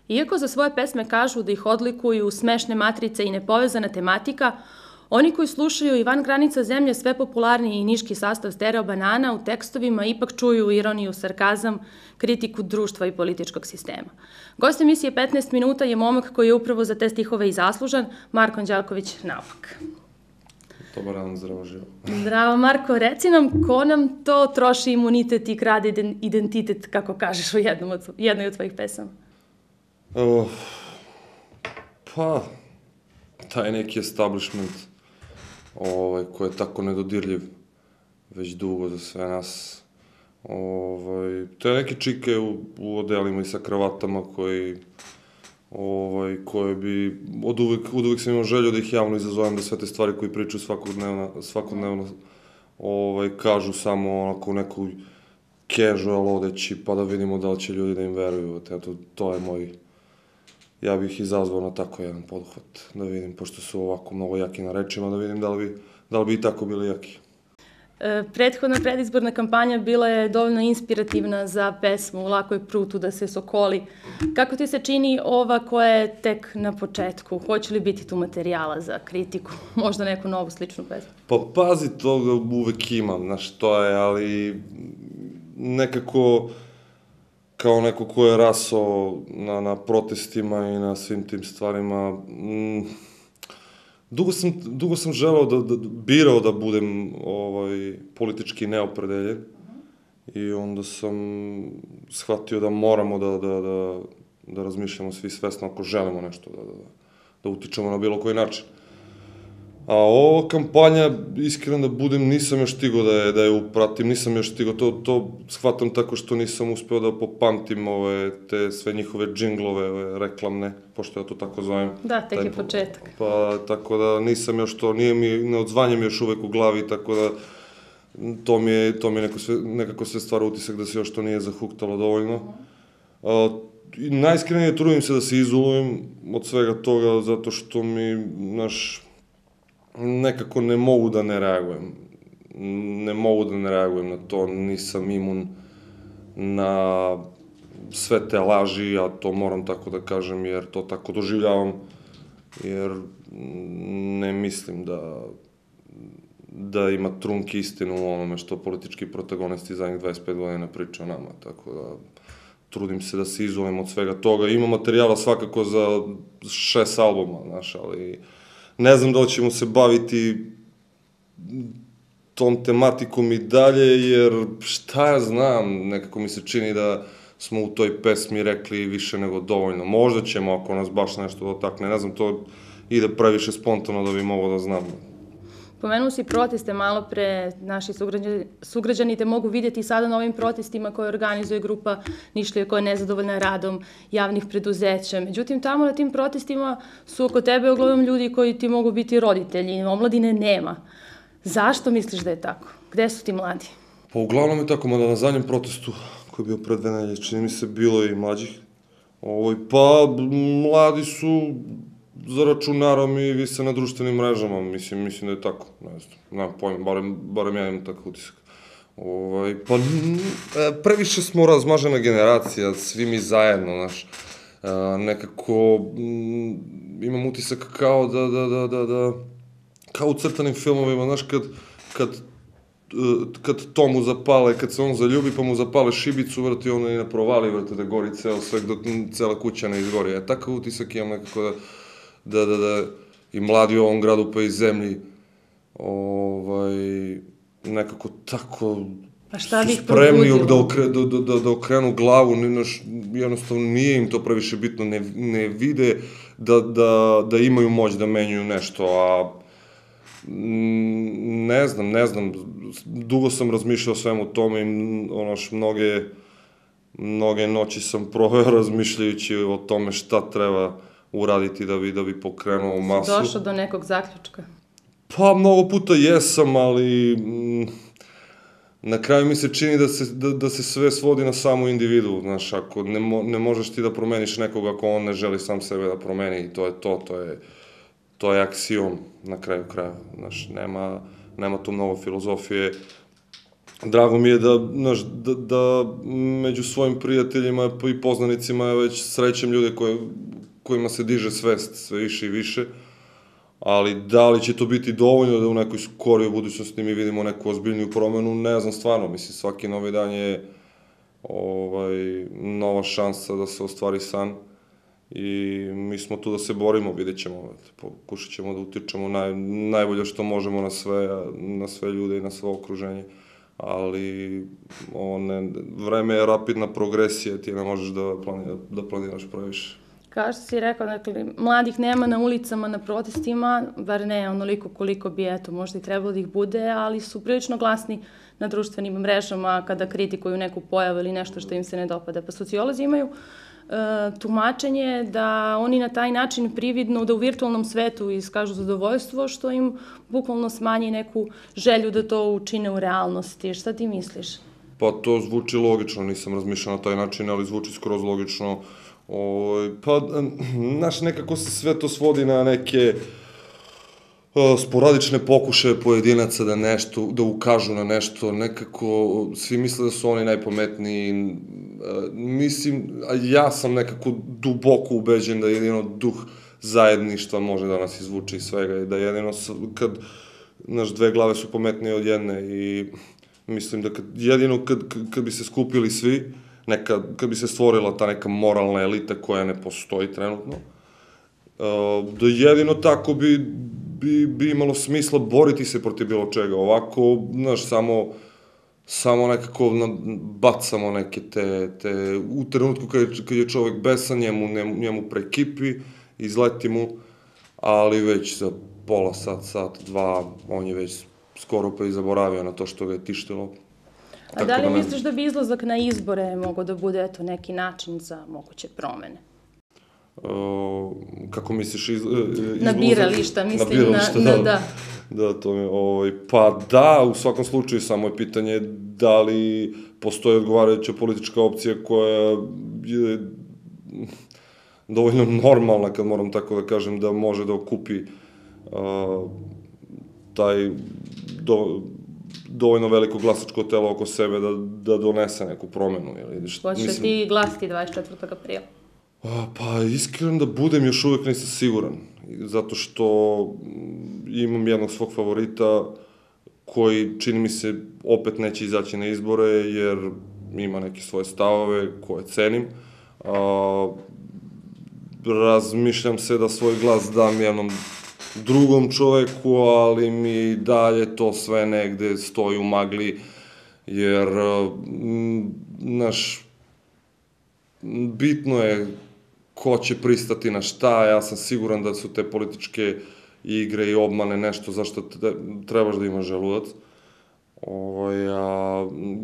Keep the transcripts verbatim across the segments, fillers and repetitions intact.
Iako za svoje pesme kažu da ih odlikuju smešne matrice i nepovezana tematika, oni koji slušaju i van granica zemlje sve popularniji i niški sastav Stereo Banana u tekstovima ipak čuju ironiju, sarkazam, kritiku društva i političkog sistema. Gost emisije petnaest minuta je momak koji je upravo za te stihove i zaslužan, Marko Anđelković Naopak. Dobar dan, zdravo živo. Zdravo Marko, reci nam ko nam to troši imunitet i krade identitet, kako kažeš u jednoj od tvojih pesama? Uh, pa, taj neki establishment ovaj, koji je tako nedodirljiv već dugo za sve nas. Ovaj, te neke čike u, u odelima i sa kravatama koji, ovaj, koje bi, od uvek, od uvek sam imao želju da ih javno izazovem, da sve te stvari koje pričaju svakodnevno, svakodnevno ovaj, kažu samo onako u nekoj casual odeći, pa da vidimo da li će ljudi da im veruju. Eto, to je moj, ja bih izazvao na tako jedan poduhvat, da vidim, pošto su ovako mnogo jaki na rečima, da vidim da li bi, da li bi i tako bili jaki. E, prethodna predizborna kampanja bila je dovoljno inspirativna za pesmu Lako je prutu da se sokoli. Kako ti se čini ova koja je tek na početku? Hoće li biti tu materijala za kritiku? Možda neku novu sličnu pesmu? Pa pazi, toga uvek imam, znaš, to je, ali nekako kao neko ko je rasao na, na protestima i na svim tim stvarima, mm, dugo sam, dugo sam želeo da, da, birao da budem ovaj, politički neopredeljen i onda sam shvatio da moramo da, da, da, da razmišljamo svi svesno ako želimo nešto, da, da, da utičemo na bilo koji način. A ova kampanja, iskreno da budem, nisam još stigao da je, da je upratim, nisam još stigao, to, to shvatam tako što nisam uspeo da popamtim ove, te sve njihove džinglove, ove, reklamne, pošto ja to tako zovem. Da, tek je početak. Pa, tako da nisam još to, nije mi, ne odzvanja mi još uvek u glavi, tako da to mi je, to mi je neko sve, nekako sve stvara utisak da se još to nije zahuktalo dovoljno. A, najiskrenije trudim se da se izolujem od svega toga, zato što mi, naš, nekako ne mogu da ne reagujem. Ne mogu da ne reagujem na to, nisam imun na sve te laži, a to moram tako da kažem, jer to tako doživljavam, jer ne mislim da, da ima trunke istinu u onome što politički protagonisti zadnjih dvadeset pet godina priča o nama, tako da trudim se da se izolujem od svega toga. Ima materijala svakako za šest albuma, znaš, ali ne znam da li ćemo se baviti tom tematikom i dalje, jer šta ja znam, nekako mi se čini da smo u toj pesmi rekli više nego dovoljno. Možda ćemo, ako nas baš nešto dotakne, ne znam, to ide previše spontano da bi mogao da znam. Pomenuo si proteste malo pre, naši sugrađani, sugrađani te mogu vidjeti sada na ovim protestima koje organizuje grupa Nišlija koja je nezadovoljna radom javnih preduzeća. Međutim, tamo na tim protestima su oko tebe uglavnom ljudi koji ti mogu biti roditelji, omladine nema. Zašto misliš da je tako? Gde su ti mladi? Pa uglavnom je tako, mada na zadnjem protestu koji je bio pred dve nedelje, čini mi se bilo i mlađih. Ovoj, pa mladi su za računarom i vise na društvenim mrežama, mislim, mislim da je tako, ne znam, nemam pojma, barem, barem ja imam takav utisak. Ovaj, pa previše smo razmažena generacija, svi mi zajedno, znaš, nekako m, imam utisak kao da, da, da, da, da, kao u crtanim filmovima, znaš, kad, kad, kad to mu zapale, kad se on zaljubi pa mu zapale šibicu, vrti, ono i ne provali, vrti, da gori ceo sve, dok cela kuća ne izgori. Ja takav utisak imam nekako da da, da, da, i mladi u ovom gradu pa i zemlji, ovaj, nekako tako pa šta bih spremni da, okre, da, da, da, da okrenu glavu, naš, jednostavno nije im to previše bitno, ne, ne vide da, da, da imaju moć da menjuju nešto, a ne znam, ne znam, dugo sam razmišljao o svemu tome i onoš, mnoge, mnoge noći sam proveo razmišljajući o tome šta treba uraditi da bi, da bi pokrenuo masu. Došao do nekog zaključka? Pa, mnogo puta jesam, ali m, na kraju mi se čini da se, da, da se sve svodi na samu individu, znaš, ako ne, mo, ne možeš ti da promeniš nekoga ako on ne želi sam sebe da promeni, i to je to, to je, to je aksiom na kraju kraja, znaš, nema, nema tu mnogo filozofije. drago mi je da, znaš, da, da među svojim prijateljima i poznanicima već srećem ljude koje, kojima se diže svest sve više i više, ali da li će to biti dovoljno da u nekoj skorijoj budućnosti mi vidimo neku ozbiljniju promenu, ne znam stvarno, mislim, svaki novi dan je ovaj, nova šansa da se ostvari san i mi smo tu da se borimo, vidjet ćemo, pokušat ćemo da utičemo naj, najbolje što možemo na sve, na sve ljude i na sve okruženje, ali one, vreme je rapidna progresija, ti ne možeš da, planira, da planiraš previše. Kao što si rekao, dakle, mladih nema na ulicama, na protestima, bar ne onoliko koliko bi, eto, možda i trebalo da ih bude, ali su prilično glasni na društvenim mrežama kada kritikuju neku pojavu ili nešto što im se ne dopada. Pa sociolozi imaju tumačenje da oni na taj način prividno da u virtualnom svetu iskažu zadovoljstvo, što im bukvalno smanji neku želju da to učine u realnosti. Šta ti misliš? Pa to zvuči logično, nisam razmišljao na taj način, ali zvuči skroz logično. Pa, znaš, nekako se sve to svodi na neke sporadične pokušaje pojedinaca da nešto, da ukažu na nešto, nekako svi misle da su oni najpametniji. Mislim, ja sam nekako duboko ubeđen da jedino duh zajedništva može da nas izvuče iz svega i da jedino kad, znaš, dve glave su pametnije od jedne i mislim da kad, jedino kad, kad bi se skupili svi, neka, kad bi se stvorila ta neka moralna elita koja ne postoji trenutno, da jedino tako bi bi, bi imalo smisla boriti se protiv bilo čega. Ovako, znaš, samo, samo nekako bacamo neke te, te u trenutku kad je, kad je čovek besan, njemu, njemu prekipi, izleti mu, ali već za pola sat, sat, dva, on je već skoro pa i zaboravio na to što ga je tištilo. A da li misliš da bi izlazak na izbore mogao da bude, eto, neki način za moguće promene? Uh, kako misliš iz, izlazak? Na birališta, mislim, na birališta, na, da, da. Da, to mi, ovaj, pa da, u svakom slučaju, samo je pitanje da li postoji odgovarajuća politička opcija koja je dovoljno normalna, kad moram tako da kažem, da može da okupi uh, taj do, dovoljno veliko glasačko telo oko sebe da, da donese neku promenu. Hoćeš ti glasiti dvadeset četvrtog aprila? Pa, iskreno da budem, još uvek nisam siguran. Zato što imam jednog svog favorita koji, čini mi se, opet neće izaći na izbore, jer ima neke svoje stavove koje cenim. A, razmišljam se da svoj glas dam jednom drugom čoveku, ali mi dalje to sve negde stoji u magli, jer, znaš, bitno je ko će pristati na šta, ja sam siguran da su te političke igre i obmane nešto za što trebaš da imaš želudac.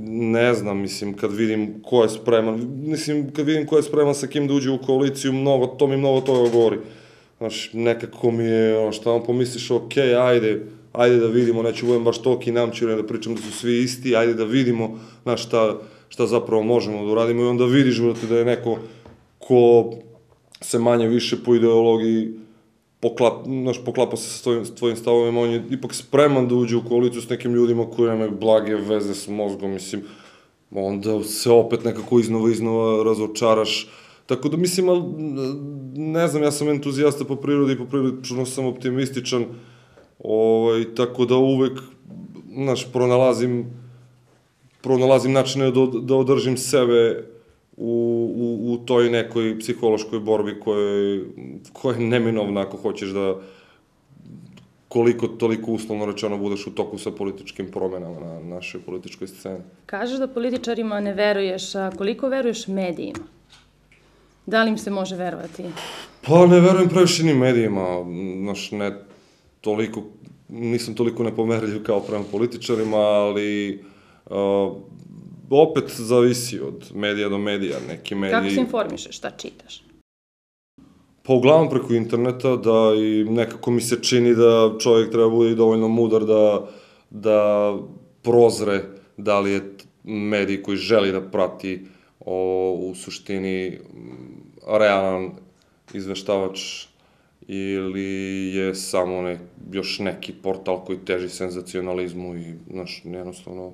Ne znam, mislim, kad vidim ko je spreman, mislim, kad vidim ko je spreman sa kim da uđe u koaliciju, mnogo, to mi mnogo toga govori. Znaš, nekako mi je, ono, šta vam pomisliš, okej, ajde, ajde da vidimo, neću budem baš toliki namćuren da pričam da su svi isti, ajde da vidimo, znaš, šta, šta zapravo možemo da uradimo i onda vidiš, brate, da je neko ko se manje više po ideologiji poklapa, znaš, poklapa se sa tvojim, tvojim stavovima, on je ipak spreman da uđe u koaliciju s nekim ljudima koji nemaju blage veze s mozgom, mislim, onda se opet nekako iznova, iznova razočaraš. Tako da, mislim, ali, ne znam, ja sam entuzijasta po prirodi i po prilično sam optimističan, ovaj, tako da uvek, znaš, pronalazim, pronalazim načine da, da održim sebe u, u, u toj nekoj psihološkoj borbi koja, koja je neminovna ako hoćeš da koliko toliko uslovno rečeno budeš u toku sa političkim promenama na našoj političkoj sceni. Kažeš da političarima ne veruješ, a koliko veruješ medijima? Da li im se može verovati? Pa ne verujem previše ni medijima, znaš, ne toliko, nisam toliko nepomerljiv kao prema političarima, ali uh, opet zavisi od medija do medija, neki mediji... Kako se informišeš, šta čitaš? Pa uglavnom preko interneta, da i nekako mi se čini da čovjek treba bude i dovoljno mudar da, da prozre da li je medij koji želi da prati o, u suštini realan izveštavač ili je samo ne, još neki portal koji teži senzacionalizmu i, znaš, jednostavno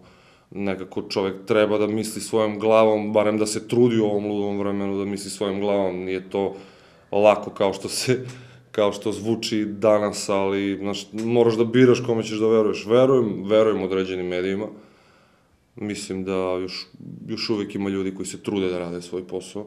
nekako čovek treba da misli svojom glavom, barem da se trudi u ovom ludom vremenu da misli svojom glavom, nije to lako kao što se, kao što zvuči danas, ali, znaš, moraš da biraš kome ćeš da veruješ. Verujem, verujem određenim medijima, mislim da još, još uvek ima ljudi koji se trude da rade svoj posao,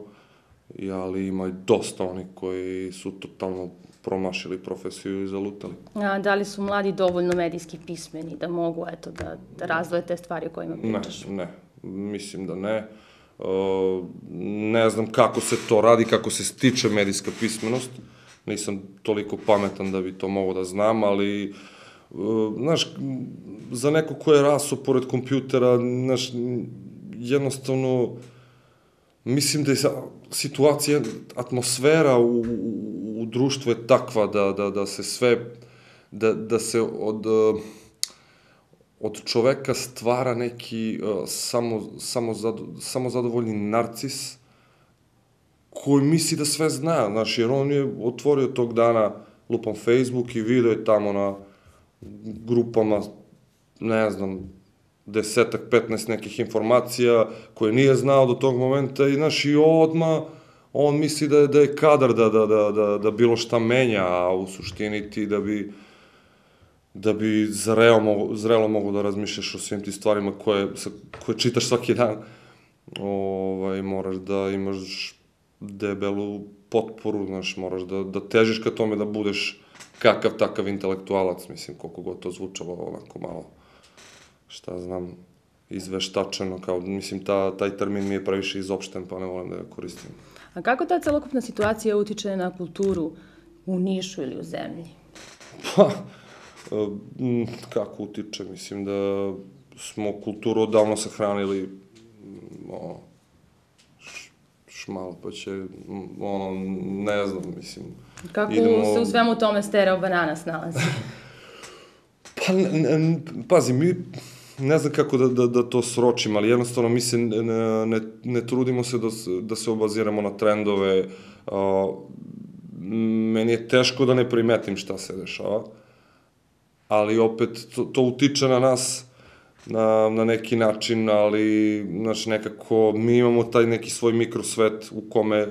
ali ima i dosta onih koji su totalno promašili profesiju i zalutali. A da li su mladi dovoljno medijski pismeni da mogu, eto, da, da razvoje te stvari o kojima pričaš? Ne, ne, mislim da ne. Uh, ne znam kako se to radi, kako se stiče medijska pismenost. Nisam toliko pametan da bi to mogao da znam, ali, uh, znaš, za neko ko je rasao pored kompjutera, znaš, jednostavno, mislim da je situacija, atmosfera u, u, u društvu je takva da, da, da se sve, da, da se od, od čoveka stvara neki uh, samo, samo, zado, samo zadovoljni narcis koji misli da sve zna, znaš, jer on je otvorio tog dana lupam Facebook i video je tamo na grupama, ne znam, desetak, petnaest nekih informacija koje nije znao do tog momenta i, znaš, i odmah on misli da je, da je kadar da, da, da, da, da bilo šta menja, a u suštini ti da bi da bi zrelo mogo, zrelo mogo da razmišljaš o svim ti stvarima koje, koje čitaš svaki dan, ovaj, moraš da imaš debelu potporu, znaš, moraš da, da težiš ka tome da budeš kakav takav intelektualac, mislim, koliko god to zvučalo onako malo, šta znam, izveštačeno, kao, mislim, ta, taj termin mi je previše izopšten, pa ne volim da ga koristim. A kako ta celokupna situacija utiče na kulturu u Nišu ili u zemlji? Pa, kako utiče, mislim da smo kulturu odavno sahranili, ono, šmal, pa će, ono, ne znam, mislim... Kako idemo... se u svemu tome Stereo Banana snalazi? Pa, ne, pazi, mi, ne znam kako da, da, da to sročim, ali jednostavno mi se ne, ne, ne trudimo se da, da se obaziramo na trendove. A, meni je teško da ne primetim šta se dešava, ali opet to, to utiče na nas na, na neki način, ali, znaš, nekako mi imamo taj neki svoj mikrosvet u kome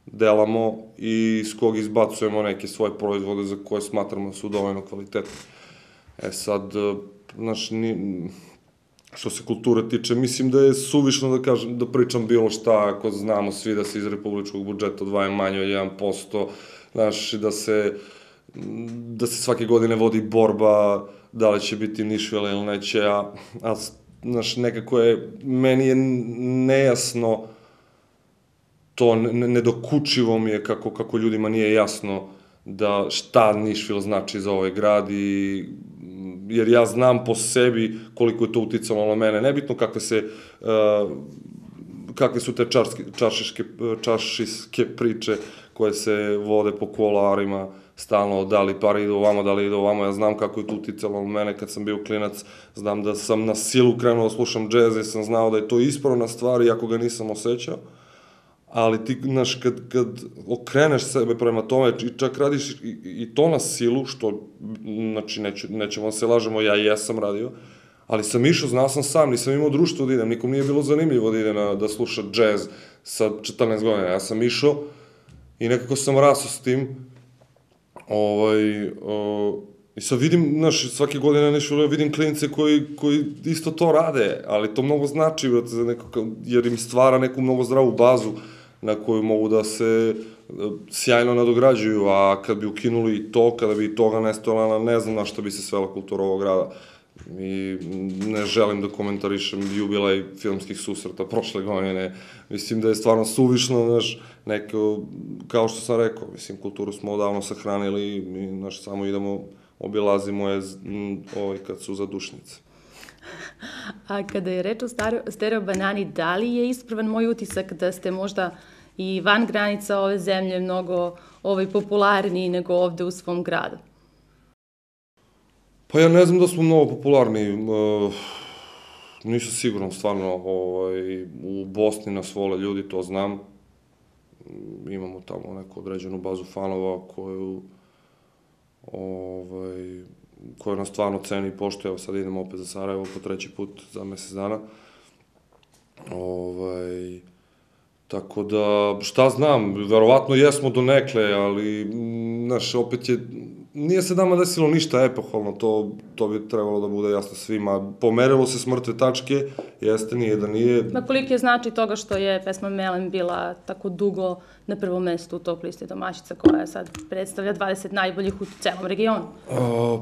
delamo i iz kog izbacujemo neke svoje proizvode za koje smatramo da su dovoljno kvalitetni. E sad, znaš, ni, što se kulture tiče, mislim da je suvišno da kažem, da pričam bilo šta, ako znamo svi da se iz republičkog budžeta odvaja manje od jedan posto, znaš, da se, da se svake godine vodi borba, da li će biti Nišvila ili neće, a, a znaš, nekako je, meni je nejasno, to nedokučivo mi je kako, kako ljudima nije jasno da šta Nišvil znači za ovaj grad, i, jer ja znam po sebi koliko je to uticalo na mene. Nebitno kakve se, uh, kakve su te čarski, čaršiške, čaršiske priče koje se vode po kuloarima, stalno, da li pare ide ovamo, da li ide ovamo, ja znam kako je to uticalo na mene kad sam bio klinac, znam da sam na silu krenuo da slušam džez, jer sam znao da je to ispravna stvar, iako ga nisam osjećao. Ali ti, znaš, kad, kad okreneš sebe prema tome i čak radiš i, i to na silu, što, znači, neću, nećemo se lažemo, ja jesam radio, ali sam išao, znao sam sam, nisam imao društvo da idem, nikom nije bilo zanimljivo da ide na, da sluša džez sa četrnaest godina, ja sam išao i nekako sam rasao s tim, ovaj, o, i sad vidim, znaš, svake godine nešto, vidim klinice koji, koji isto to rade, ali to mnogo znači, za neko, jer im stvara neku mnogo zdravu bazu na koju mogu da se sjajno nadograđuju, a kad bi ukinuli i to, kada bi i toga nestala, ne znam na što bi se svela kultura ovog grada. I ne želim da komentarišem jubilej filmskih susreta prošle godine. Mislim da je stvarno suvišno, znaš, neko, kao što sam rekao, mislim, kulturu smo odavno sahranili i, znaš, samo idemo, obilazimo je ovaj, kad su zadušnice. A kada je reč o Stereo Banani, da li je ispravan moj utisak da ste možda i van granica ove zemlje mnogo ovaj, popularniji nego ovde u svom gradu? Pa ja ne znam da smo mnogo popularni. Uh, nisam siguran, stvarno, ovaj, u Bosni nas vole ljudi, to znam. Imamo tamo neku određenu bazu fanova koju, ovaj, koje nas stvarno ceni i poštuje. Evo sad idemo opet za Sarajevo po treći put za mesec dana. Ovaj, tako da, šta znam, verovatno jesmo donekle, ali, znaš, opet je, nije se nama desilo ništa epohalno, to, to bi trebalo da bude jasno svima. Pomerilo se s mrtve tačke, jeste, nije da nije. Ma koliki je znači toga što je pesma Melem bila tako dugo na prvom mestu u top listi domaćica, koja sad predstavlja dvadeset najboljih u celom regionu? A,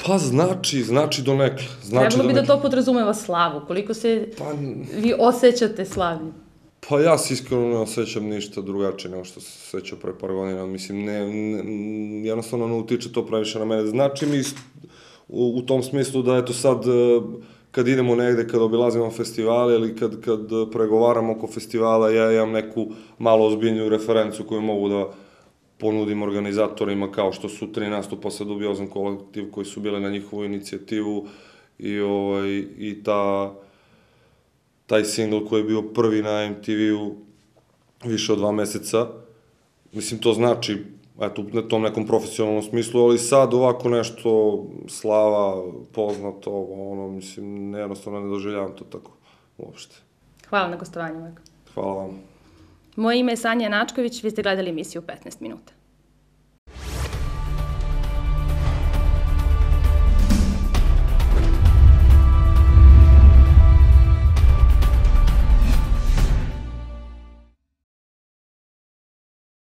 pa znači, znači donekle. Znači Trebalo bi donekle. da to podrazumeva slavu, koliko se pa, vi osjećate slavni? Pa ja se iskreno ne osjećam ništa drugačije nego što se osjećao pre par godina. Mislim, ne, ne, jednostavno ne utiče to previše na mene. Znači mi u, u tom smislu da eto sad kad idemo negde, kad obilazimo festivale ili kad, kad pregovaramo oko festivala, ja imam neku malo ozbiljniju referencu koju mogu da ponudim organizatorima, kao što su tri nastupa sa Dubiozan kolektiv koji su bile na njihovu inicijativu i, ovaj, i ta, taj singl koji je bio prvi na em te ve-u više od dva meseca. Mislim, to znači, eto, u tom nekom profesionalnom smislu, ali sad ovako nešto, slava, poznato, ono, mislim, jednostavno ne doživljavam to tako uopšte. Hvala na gostovanju, Marko. Hvala vam. Moje ime je Sanja Načković, vi ste gledali emisiju petnaest minuta.